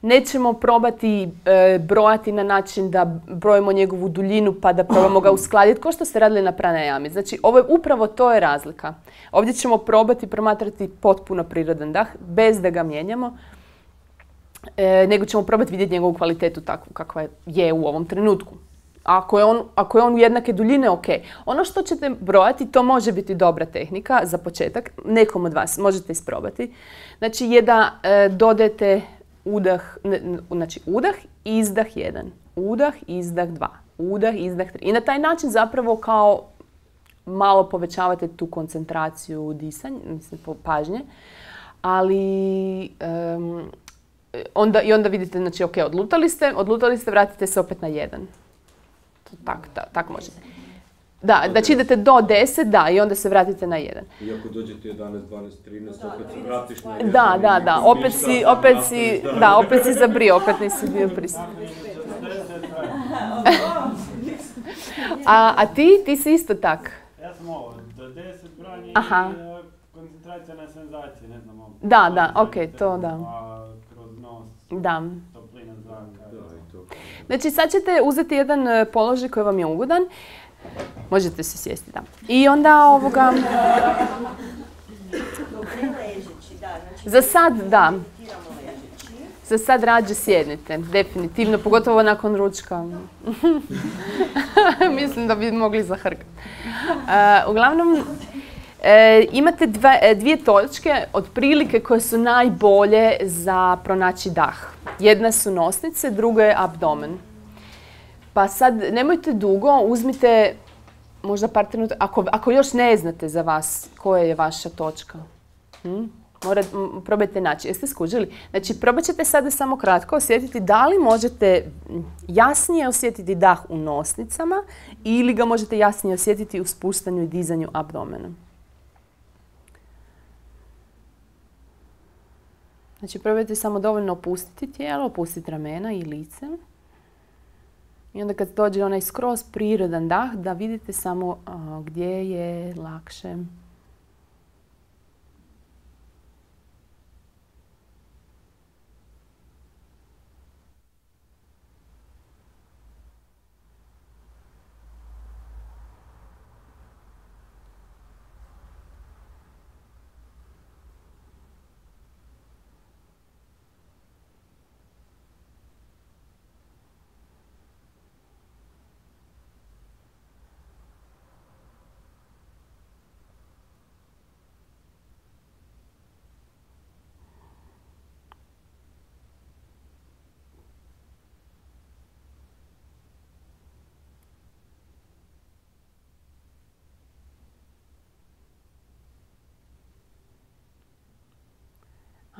Nećemo probati e, brojati na način da brojimo njegovu duljinu pa da probamo ga uskladiti, kao što ste radili na pranajami. Znači, ovo je upravo to je razlika. Ovdje ćemo probati promatrati potpuno prirodan dah, bez da ga mijenjamo, e, nego ćemo probati vidjeti njegovu kvalitetu takvu kakva je u ovom trenutku. Ako je on, ako je on u jednake duljine, ok. Ono što ćete brojati, to može biti dobra tehnika za početak. Nekom od vas možete isprobati. Znači, je da e, dodajete udah, ne, znači udah, izdah jedan, udah, izdah dva, udah, izdah tri. I na taj način zapravo kao malo povećavate tu koncentraciju disanja, mislim pažnje, ali um, onda, i onda vidite, znači ok, odlutali ste, odlutali ste, vratite se opet na jedan. Tako tak, tak možete. Da, znači idete do deset, da, i onda se vratite na jedan. I ako dođete jedanaest, dvanaest, trinaest, opet se vratiš na jedan. Da, da, da, opet si, opet si, da, opet si zabrio, opet nisi bio prisutan. a, a ti, ti si isto tak? Ja sam ovo, do deset branje Aha. i tradicionalne senzacije, ne znam, ovo. Da, da, ok, to da. A kroz nos, Da. toplina zraka. Da, i to. Znači sad ćete uzeti jedan e, položaj koji vam je ugodan. Možete se sjesti, da. I onda ovoga... Ležeći, da. Znači, Za sad, da. meditiramo ležeći. Za sad rađe sjednite, definitivno, pogotovo nakon ručka. Mislim da bi mogli zahrkati. Uh, uglavnom, e, imate dve, e, dvije točke otprilike koje su najbolje za pronaći dah. Jedna su nosnice, druga je abdomen. Pa sad, nemojte dugo, uzmite možda par trenutka, ako, ako još ne znate za vas koja je vaša točka. Hm? Morat, m, probajte naći. Jeste skužili? Znači, probat ćete sada samo kratko osjetiti da li možete jasnije osjetiti dah u nosnicama ili ga možete jasnije osjetiti u spuštanju i dizanju abdomena. Znači, probajte samo dovoljno opustiti tijelo, opustiti ramena i lice. I onda kad dođe onaj skroz prirodan dah, da vidite samo a, gdje je lakše.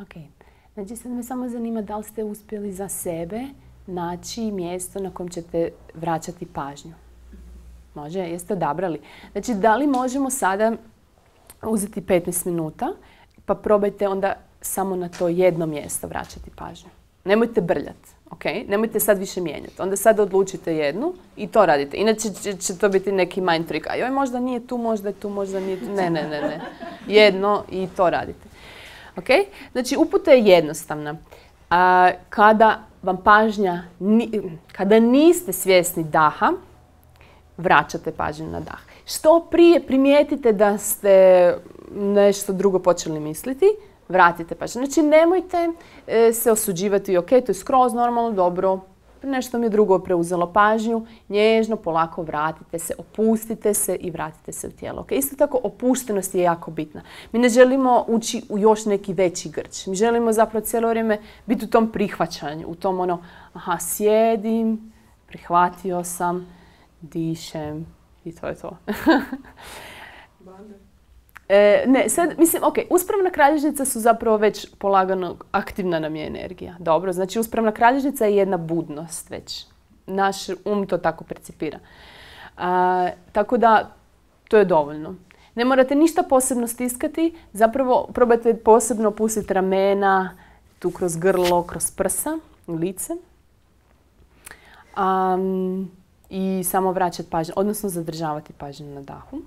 Ok, znači sad me samo zanima da li ste uspjeli za sebe naći mjesto na kojem ćete vraćati pažnju. Može? Jeste odabrali? Znači, da li možemo sada uzeti petnaest minuta pa probajte onda samo na to jedno mjesto vraćati pažnju. Nemojte brljati, ok? Nemojte sad više mijenjati. Onda sad odlučite jednu i to radite. Inače će, će to biti neki mind trick. A joj, možda nije tu, možda je tu, možda nije tu. Ne, ne, ne, ne. Jedno i to radite. Okay? Znači, uputa je jednostavna. A, kada vam pažnja, ni, kada niste svjesni daha, vraćate pažnju na dah. Što prije primijetite da ste nešto drugo počeli misliti, vratite pažnju. Znači, nemojte e, se osuđivati, ok, to je skroz normalno, dobro, nešto mi je drugo preuzelo pažnju, nježno, polako vratite se, opustite se i vratite se u tijelo. Okay? Isto tako, opuštenost je jako bitna. Mi ne želimo ući u još neki veći grč. Mi želimo zapravo cijelo vrijeme biti u tom prihvaćanju, u tom ono, aha, sjedim, prihvatio sam, dišem i to je to. E, ne, sad, mislim, ok, uspravna kralježnica su zapravo već polagano aktivna nam je energija. Dobro, znači uspravna kralježnica je jedna budnost već. Naš um to tako percipira. A, tako da, to je dovoljno. Ne morate ništa posebno stiskati, zapravo probajte posebno pustiti ramena, tu kroz grlo, kroz prsa, lice. Um, I samo vraćati pažnju, odnosno zadržavati pažnju na dahu.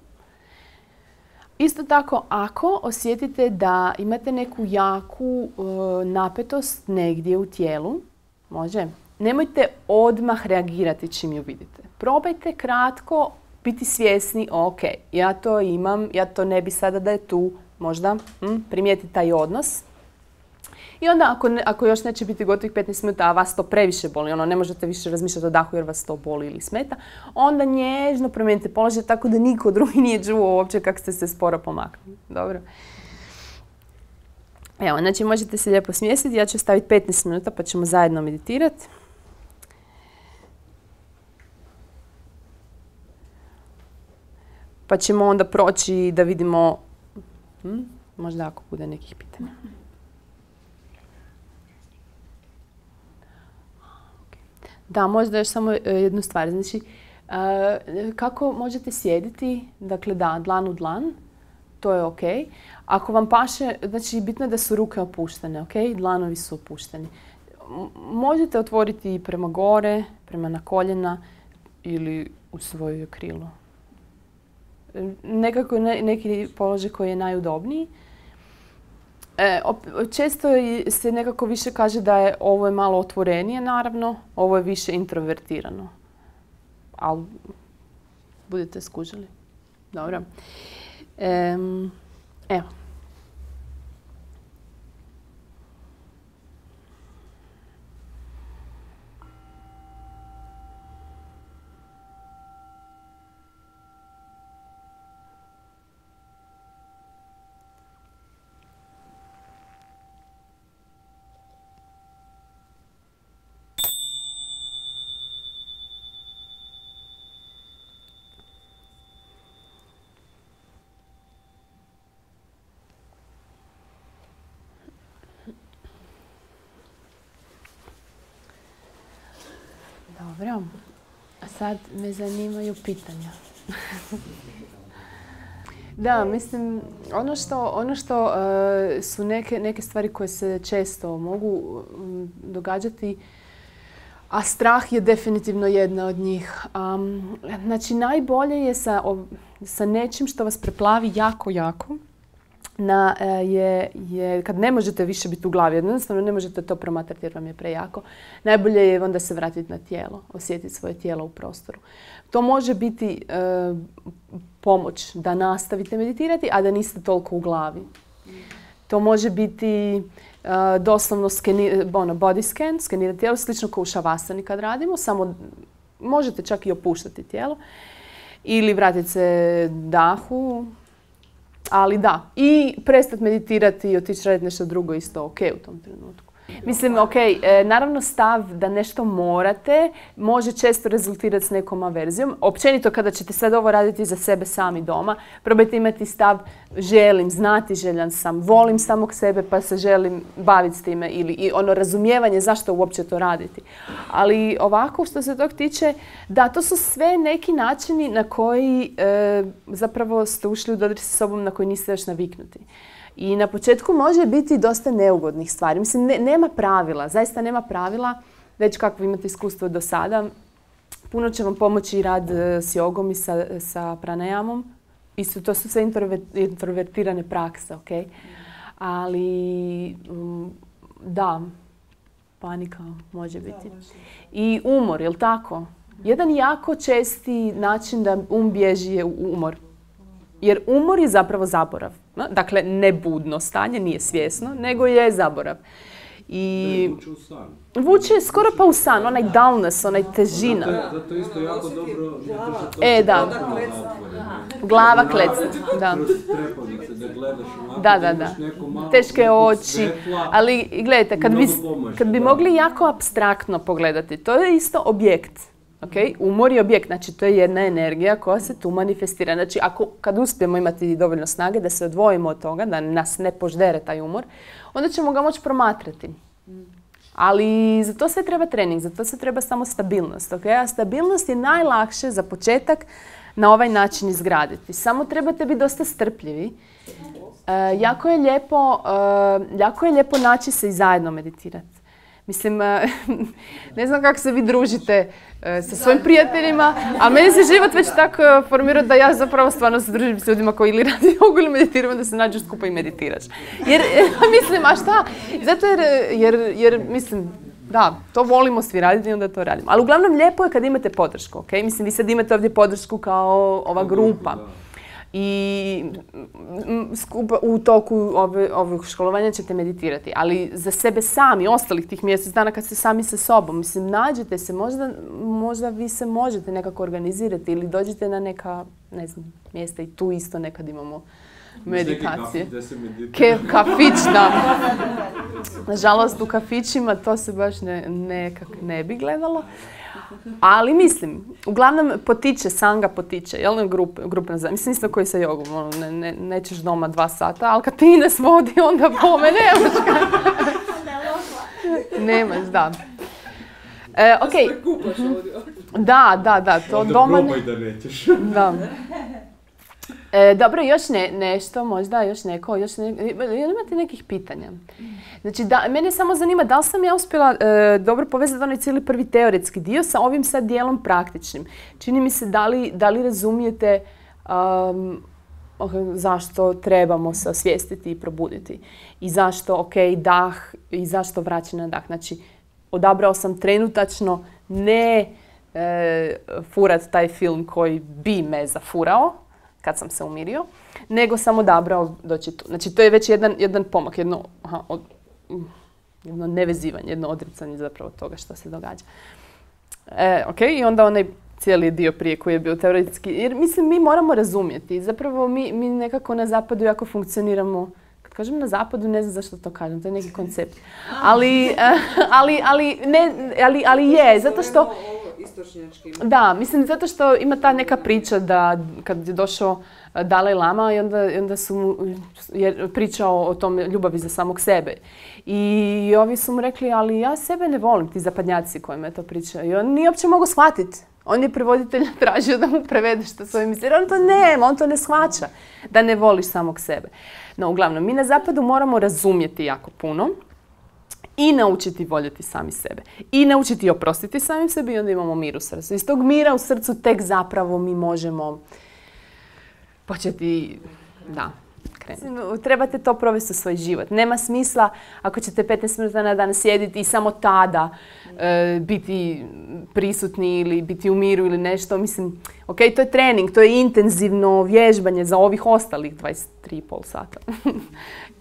Isto tako, ako osjetite da imate neku jaku e, napetost negdje u tijelu, može, nemojte odmah reagirati čim ju vidite. Probajte kratko biti svjesni, ok, ja to imam, ja to ne bi sada da je tu, možda hm, primijetiti taj odnos. I onda ako, ne, ako još neće biti gotovih petnaest minuta, a vas to previše boli, ono ne možete više razmišljati o dahu jer vas to boli ili smeta, onda nježno promijenite položaj tako da niko drugi nije čuo uopće kako ste se sporo pomaknuli. Dobro. Evo, znači možete se lijepo smjestiti, ja ću staviti petnaest minuta pa ćemo zajedno meditirati. Pa ćemo onda proći da vidimo, hm, možda ako bude nekih pitanja. Da, možda još samo jednu stvar. Znači, kako možete sjediti, dakle da, dlan u dlan, to je ok. Ako vam paše, znači bitno je da su ruke opuštene, ok? Dlanovi su opušteni. Možete otvoriti prema gore, prema na koljena ili u svoje krilo. Nekako ne, neki položaj koji je najudobniji. E, često se nekako više kaže da je ovo je malo otvorenije, naravno, ovo je više introvertirano. Ali budete skužili. Dobro. E, evo. Dobro, a sad me zanimaju pitanja. Da, mislim, ono što, ono što uh, su neke, neke stvari koje se često mogu um, događati, a strah je definitivno jedna od njih. Um, znači, najbolje je sa, o, sa nečim što vas preplavi jako, jako, Na, je, je, kad ne možete više biti u glavi, jednostavno ne možete to promatrati jer vam je prejako, najbolje je onda se vratiti na tijelo, osjetiti svoje tijelo u prostoru. To može biti e, pomoć da nastavite meditirati, a da niste toliko u glavi. To može biti e, doslovno skeni, ono, body scan, skenirati tijelo, slično kao u šavasani kad radimo, samo možete čak i opuštati tijelo ili vratiti se dahu. Ali da, i prestati meditirati i otići raditi nešto drugo isto ok u tom trenutku. Mislim, ok, naravno stav da nešto morate može često rezultirati s nekom averzijom. Općenito kada ćete sad ovo raditi za sebe sami doma, probajte imati stav želim, znati željan sam, volim samog sebe pa se želim baviti s time ili i ono razumijevanje zašto uopće to raditi. Ali ovako što se tog tiče, da, to su sve neki načini na koji e, zapravo ste ušli u dodir sa sobom na koji niste još naviknuti. I na početku može biti dosta neugodnih stvari. Mislim, ne, nema pravila, zaista nema pravila, već kako imate iskustvo do sada. Puno će vam pomoći rad s jogom i sa, sa pranayamom. Isto, to su sve introvertirane prakse, ok? Ali, da, panika može biti. I umor, jel tako? Jedan jako česti način da um bježi je umor. Jer umor je zapravo zaborav. Dakle, ne budno stanje, nije svjesno, nego je zaborav. I vuče u san. Vuče skoro pa u san, onaj dullness, onaj težina. Zato, zato isto jako dobro E, da. Glava klecna, da. Da gledaš onako, da, da, da. Teške oči. Ali gledajte, kad bi, kad bi mogli jako apstraktno pogledati, to je isto objekt. Okay? Umor je objekt, znači to je jedna energija koja se tu manifestira. Znači, ako, kad uspijemo imati dovoljno snage da se odvojimo od toga, da nas ne poždere taj umor, onda ćemo ga moći promatrati. Ali za to sve treba trening, za to se treba samo stabilnost. Okay? A stabilnost je najlakše za početak na ovaj način izgraditi. Samo trebate biti dosta strpljivi. E, jako je lijepo, e, jako je lijepo naći se i zajedno meditirati. Mislim, ne znam kako se vi družite sa svojim prijateljima, ali meni se život već tako formirao da ja zapravo stvarno se družim s ljudima koji ili radi jogu ili meditiramo, da se nađu skupa i meditiraš. Jer, mislim, a šta? Zato jer, jer, jer, mislim, da, to volimo svi raditi i onda to radimo. Ali uglavnom lijepo je kad imate podršku, ok? Mislim, vi sad imate ovdje podršku kao ova grupa. I skupa, u toku ove, ovog školovanja ćete meditirati. Ali za sebe sami, ostalih tih mjesec dana kad ste sami sa sobom, mislim, nađete se, možda, možda vi se možete nekako organizirati ili dođete na neka, ne znam, mjesta i tu isto nekad imamo meditacije. Ke, kafić, da. Nažalost, u kafićima to se baš ne, nekak ne bi gledalo. Ali mislim, uglavnom potiče, sanga potiče, jel ne, grup, grupna zajednica. Mislim isto koji sa jogom, ono, ne, ne, nećeš doma dva sata, ali kad ti ne svodi, onda pome nemaš ga. Nemaš, da. E, ok. Da, da, da, to onda doma... Onda probaj da nećeš. Da. E, dobro, još ne, nešto, možda još neko, još ne, imate nekih pitanja? Znači, da, mene samo zanima da li sam ja uspjela e, dobro povezati onaj cijeli prvi teoretski dio sa ovim sad dijelom praktičnim. Čini mi se da li, da li razumijete um, zašto trebamo se osvijestiti i probuditi. I zašto, ok, dah i zašto vraćanje na dah. Znači, odabrao sam trenutačno ne e, furat taj film koji bi me zafurao kad sam se umirio, nego sam odabrao doći tu. Znači, to je već jedan, jedan pomak, jedno, aha, od, jedno nevezivanje, jedno odricanje zapravo toga što se događa. E, ok, i onda onaj cijeli dio prije koji je bio teoretski. Jer mislim, mi moramo razumjeti. Zapravo mi, mi nekako na zapadu jako funkcioniramo. Kad kažem na zapadu, ne znam zašto to kažem, to je neki koncept. Ali, ali, ali, ne, ali, ali je, zato što... Da, mislim, zato što ima ta neka priča da kad je došao Dalaj Lama i onda, onda su mu je pričao o tom ljubavi za samog sebe. I ovi su mu rekli, ali ja sebe ne volim, ti zapadnjaci kojima je to pričao. I on nije uopće mogao shvatiti. On je prevoditelj tražio da mu prevede što svoj misli. Jer on to nema, on to ne shvaća. Da ne voliš samog sebe. No, uglavnom, mi na zapadu moramo razumjeti jako puno i naučiti voljeti sami sebe. I naučiti oprostiti samim sebi i onda imamo mir u srcu. Iz tog mira u srcu tek zapravo mi možemo početi, da, krenuti. Trebate to provesti u svoj život. Nema smisla ako ćete petnaest minuta na dan sjediti i samo tada e, biti prisutni ili biti u miru ili nešto. Mislim, ok, to je trening, to je intenzivno vježbanje za ovih ostalih dvadeset tri i pol sata.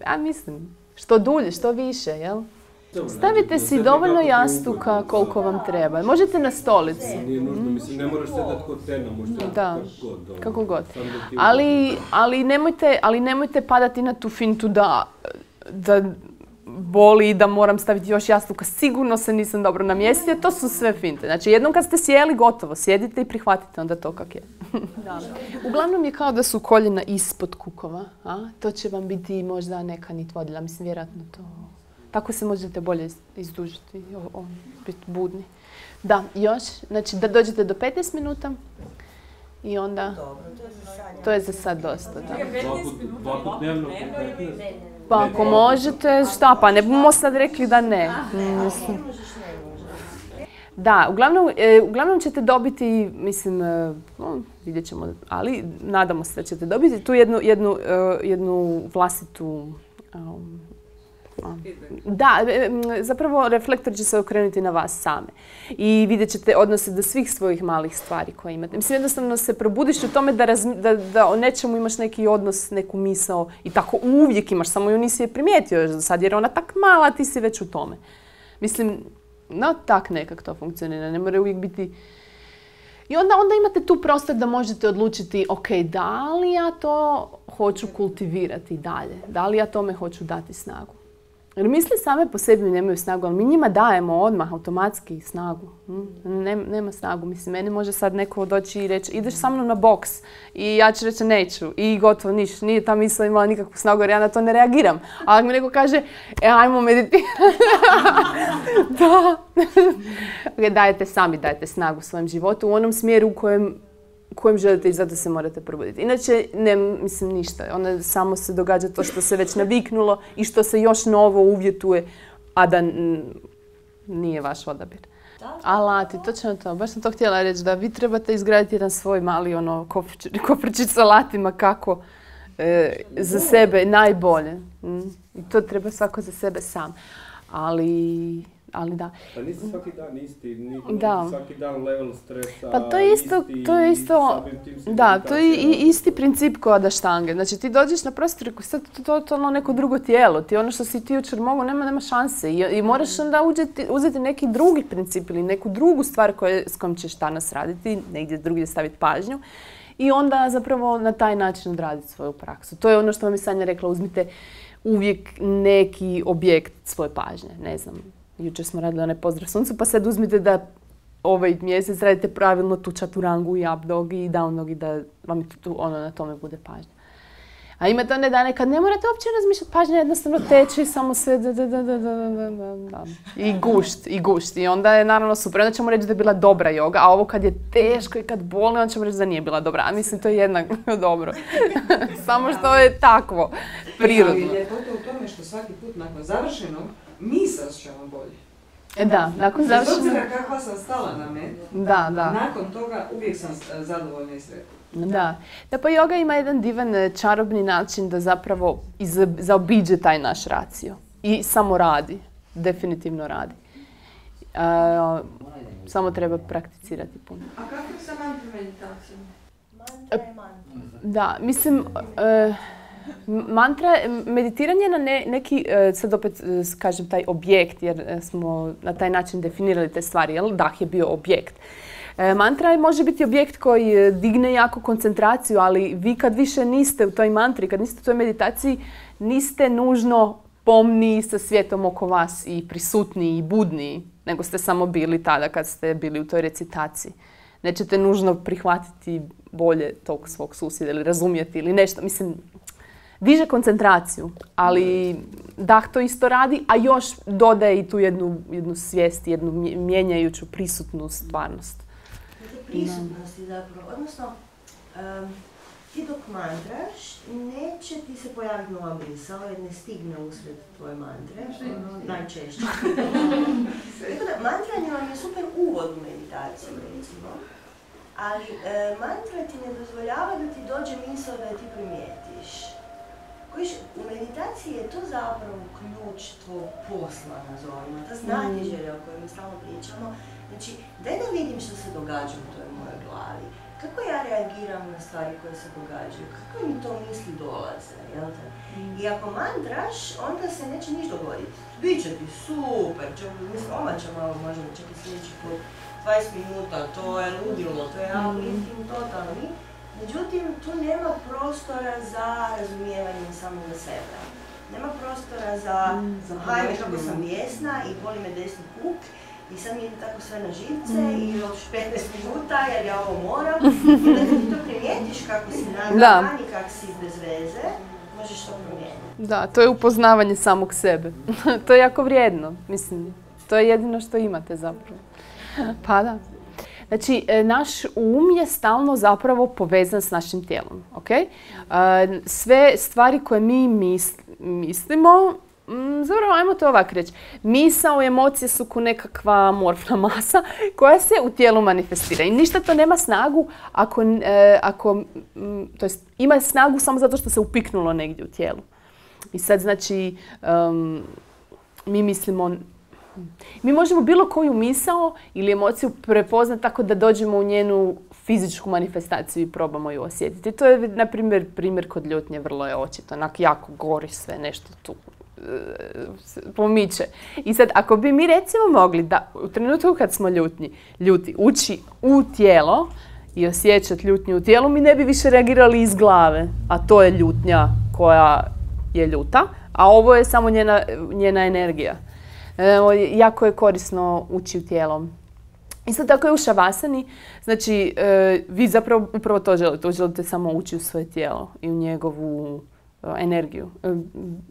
Ja mislim, što dulje, što više, jel? Stavite si dovoljno jastuka koliko vam treba. Možete na stolici. Nije nužno, mislim, ne moraš sedati kod tena, možete da, kako god. Kako god. Ali, ali, nemojte, ali nemojte padati na tu fintu da, da boli i da moram staviti još jastuka. Sigurno se nisam dobro namjestila. To su sve finte. Znači, jednom kad ste sjeli, gotovo. Sjedite i prihvatite onda to kak je. Uglavnom je kao da su koljena ispod kukova. A? To će vam biti možda neka nit vodilja. Mislim, vjerojatno to... Tako se možete bolje izdužiti, biti budni. Da, još, znači da dođete do petnaest minuta i onda... Dobro, to je za sad. To je za sad dosta, da. Dva put dnevno, Pa ako možete, šta pa, ne bomo sad rekli da ne. Mislim. Da, uglavnom, e, uglavnom ćete dobiti, mislim, e, no, vidjet ćemo, ali nadamo se da ćete dobiti tu jednu, jednu, uh, jednu vlastitu... Um, Da, zapravo reflektor će se okrenuti na vas same. I vidjet ćete odnose do svih svojih malih stvari koje imate. Mislim, jednostavno se probudiš u tome da, razmi, da, da o nečemu imaš neki odnos, neku misao i tako uvijek imaš, samo ju nisi je primijetio još do sad jer je ona tak mala, ti si već u tome. Mislim, no tak nekak to funkcionira, ne mora uvijek biti... I onda, onda imate tu prostor da možete odlučiti, ok, da li ja to hoću kultivirati dalje, da li ja tome hoću dati snagu. Jer misli same po sebi nemaju snagu, ali mi njima dajemo odmah automatski snagu. Nema, nema snagu. Mislim, meni može sad neko doći i reći ideš sa mnom na boks i ja ću reći neću i gotovo niš. Nije ta misla imala nikakvu snagu jer ja na to ne reagiram. A ako mi neko kaže e, ajmo meditirati. Da. Okay, dajete sami, dajete snagu svojem životu u onom smjeru u kojem kojem želite i zato se morate probuditi. Inače, ne, mislim, ništa. Onda samo se događa to što se već naviknulo i što se još novo uvjetuje, a da n- nije vaš odabir. Alati, točno to. Baš sam to htjela reći, da vi trebate izgraditi jedan svoj mali ono, kofrčić s alatima kako e, za sebe najbolje. Mm. I to treba svako za sebe sam. Ali... Ali da. Pa nisi svaki dan isti, nisi da. Svaki dan level stresa, pa to je isto, isti, to je isto, da, to je i isti princip kao da štange. Znači ti dođeš na prostor i sad to je totalno neko drugo tijelo. Ti ono što si ti jučer mogao, nema, nema šanse. I, i moraš onda uzeti, uzeti neki drugi princip ili neku drugu stvar koje, s kojom ćeš danas raditi, negdje drugdje staviti pažnju. I onda zapravo na taj način odraditi svoju praksu. To je ono što vam je Sanja rekla, uzmite uvijek neki objekt svoje pažnje, ne znam. Jučer smo radili onaj pozdrav suncu, pa sad uzmite da ovaj mjesec radite pravilno tu čaturangu i up dog i down dog i da vam tu, ono, na tome bude pažnja. A imate one dane kad ne morate uopće razmišljati, pažnja jednostavno teče i samo sve da, da, da, da, da, da, da. I gušt, i gušt. I onda je naravno super. Onda ćemo reći da je bila dobra joga, a ovo kad je teško i kad boli, onda ćemo reći da nije bila dobra. A mislim, to je jednako dobro. Samo što je takvo, prirodno. Ali ljepota u tome što svaki put nakon završenog mi se osjećamo bolje. E, Da, nakon Bez završenog... obzira kakva sam stala na met, Da, da. nakon toga uvijek sam e, zadovoljna i sretna. Da. Da, pa yoga ima jedan divan e, čarobni način da zapravo iz, zaobiđe taj naš racio. I samo radi. Definitivno radi. E, samo treba prakticirati puno. A kako je sa mantra meditacijom? Mantra je mantra. Da, mislim, e, mantra, meditiranje na ne, neki, e, sad opet e, kažem taj objekt, jer e, smo na taj način definirali te stvari, jel? Dah je bio objekt. E, mantra može biti objekt koji digne jako koncentraciju, ali vi kad više niste u toj mantri, kad niste u toj meditaciji, niste nužno pomni sa svijetom oko vas i prisutniji i budniji, nego ste samo bili tada kad ste bili u toj recitaciji. Nećete nužno prihvatiti bolje tog svog susjeda ili razumjeti ili nešto. Mislim, diže koncentraciju, ali dah to isto radi, a još dodaje i tu jednu, jednu svijest, jednu mijenjajuću prisutnu stvarnost. Dakle, prisutnosti zapravo, odnosno, um, ti dok mantraš, neće ti se pojaviti nova misao jer ne stigne usred tvoje mantre, ono, najčešće. Tako da, mantranje vam je super uvod u meditaciju, recimo, ali e, mantra ti ne dozvoljava da ti dođe misao da je ti primijetiš. Kojiš, u meditaciji je to zapravo ključ tvojeg posla, nazovimo, ta znatiželja o kojoj mi stalno pričamo. Znači, daj da vidim što se događa u toj mojoj glavi. Kako ja reagiram na stvari koje se događaju? Kako mi to misli dolaze, jel te? I ako mantraš, onda se neće niš dogoditi. Biće ti super, mislim, omaća malo možemo čak i sljedeći put, dvadeset minuta, to je ludilo, to je uplifting totalni. Međutim, tu nema prostora za razumijevanje samoga sebe. Nema prostora za, za hajme kako sam bijesna i boli me desni kuk i sad mi ide tako sve na živce i još petnaest minuta jer ja ovo moram. I onda ti to primijetiš kako si nagavan i kako si bez veze, možeš to promijeniti. Da, to je upoznavanje samog sebe. To je jako vrijedno, mislim. To je jedino što imate zapravo. Pa da. Znači, naš um je stalno zapravo povezan s našim tijelom, ok? Sve stvari koje mi mislimo, zapravo, ajmo to ovako reći, misao i emocije su ko nekakva amorfna masa koja se u tijelu manifestira. I ništa to nema snagu ako, ako to jest, ima snagu samo zato što se upiknulo negdje u tijelu. I sad, znači, um, mi mislimo, mi možemo bilo koju misao ili emociju prepoznati tako da dođemo u njenu fizičku manifestaciju i probamo ju osjetiti. To je, na primjer, primjer kod ljutnje, vrlo je očito. Onak jako gori sve, nešto tu pomiče. I sad, ako bi mi recimo mogli da u trenutku kad smo ljutni, ljuti, ući u tijelo i osjećati ljutnju u tijelu, mi ne bi više reagirali iz glave. A to je ljutnja koja je ljuta, a ovo je samo njena, njena energija. E, jako je korisno ući u tijelo. Isto tako je u šavasani, znači e, vi zapravo upravo to želite, želite samo ući u svoje tijelo i u njegovu e, energiju. E,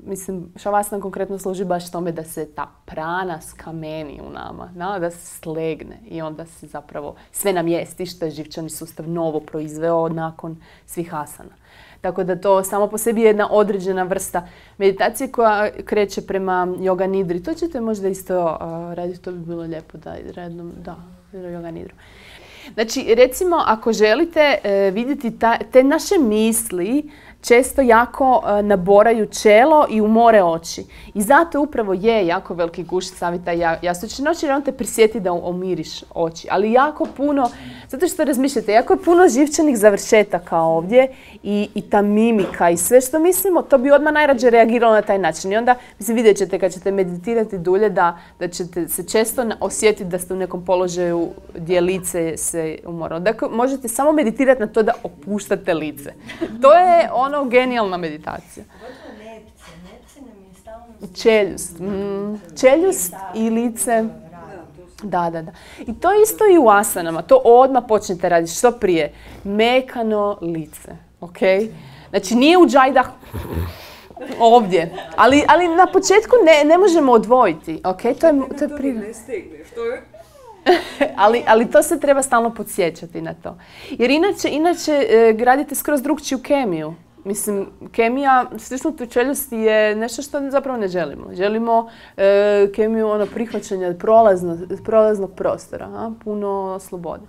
mislim, šavasana konkretno služi baš tome da se ta prana skameni u nama, na, da se slegne i onda se zapravo sve namjesti što je živčani sustav novo proizveo nakon svih asana. Tako da to samo po sebi je jedna određena vrsta meditacije koja kreće prema yoga nidri. To ćete možda isto uh, raditi, to bi bilo lijepo da rednom, da, yoga nidru. Znači, recimo, ako želite uh, vidjeti ta, te naše misli, često jako uh, naboraju čelo i umore oči. I zato upravo je jako veliki guš savjeta ja, jastučne noći, jer on te prisjeti da umiriš oči. Ali jako puno, zato što razmišljate, jako je puno živčanih završetaka ovdje i, i ta mimika i sve što mislimo, to bi odmah najrađe reagiralo na taj način. I onda, mislim, vidjet ćete kad ćete meditirati dulje da, da ćete se često osjetiti da ste u nekom položaju gdje lice se umoralo. Dakle, možete samo meditirati na to da opuštate lice. To je ono genijalna meditacija. Čeljust. Mm, čeljust i lice. Da, da, da. I to isto i u asanama. To odmah počnete raditi što prije. Mekano lice. Ok? Znači nije u džajdah ovdje. Ali, ali na početku ne, ne možemo odvojiti. Ok? To je, to je prirodno. ali, ali to se treba stalno podsjećati na to. Jer inače, inače gradite skroz drugčiju kemiju Mislim, kemija, stisnuti u čeljusti je nešto što zapravo ne želimo. Želimo e, kemiju ono, prihvaćanja prolazno, prolaznog prostora, a? Puno slobode.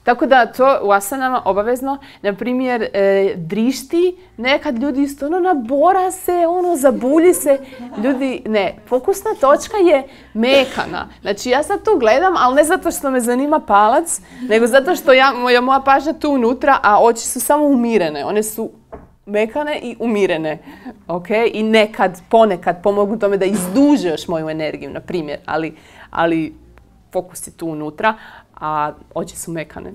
Tako da to u asanama obavezno, na primjer, e, drišti, nekad ljudi isto ono nabora se, ono zabulji se. Ljudi, ne, fokusna točka je mekana. Znači ja sad tu gledam, ali ne zato što me zanima palac, nego zato što ja, moja, moja pažnja tu unutra, a oči su samo umirene. One su mekane i umirene. Okay? I nekad, ponekad pomogu tome da izduže još moju energiju, na primjer, ali, ali fokus je tu unutra, a oči su mekane.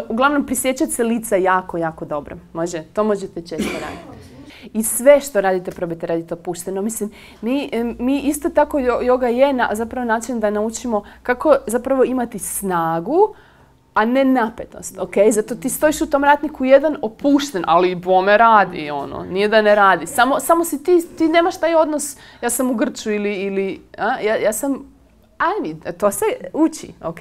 Uglavnom, prisjećati se lica jako, jako dobro. Može? To možete često raditi. I sve što radite, probajte raditi opušteno. Mislim, mi, mi isto tako, yoga je na, zapravo način da naučimo kako zapravo imati snagu, a ne napetost, okay? Zato ti stojiš u tom ratniku jedan opušten, ali bome radi, ono, nije da ne radi. Samo, samo si ti, ti nemaš taj odnos, ja sam u grču ili, ili a? Ja, ja sam, ajde, to se uči, ok?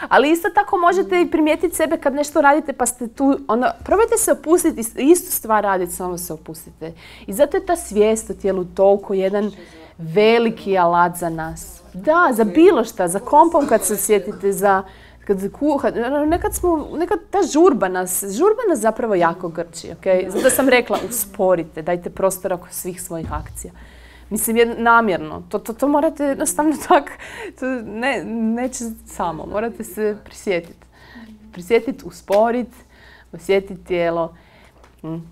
Ali isto tako možete i primijetiti sebe kad nešto radite pa ste tu, onda probajte se opustiti, istu stvar raditi, samo se opustite. I zato je ta svijest o tijelu toliko jedan veliki alat za nas. Da, za bilo šta, za kompom kad se sjetite, za kad kuha, nekad smo, nekad ta žurba nas, žurba nas zapravo jako grči, ok? Zato sam rekla, usporite, dajte prostora oko svih svojih akcija. Mislim, je namjerno. To, to, to morate jednostavno tak, to ne, neće samo, morate se prisjetiti. Prisjetiti, usporiti, osjetiti tijelo.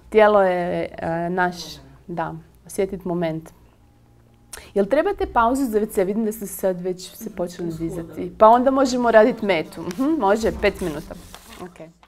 Tijelo je uh, naš, da, osjetiti moment. Jel trebate pauzu za ve ce? Vidim da ste sad već se počeli dizati. Pa onda možemo raditi metu. Uh-huh, može, pet minuta. Okay.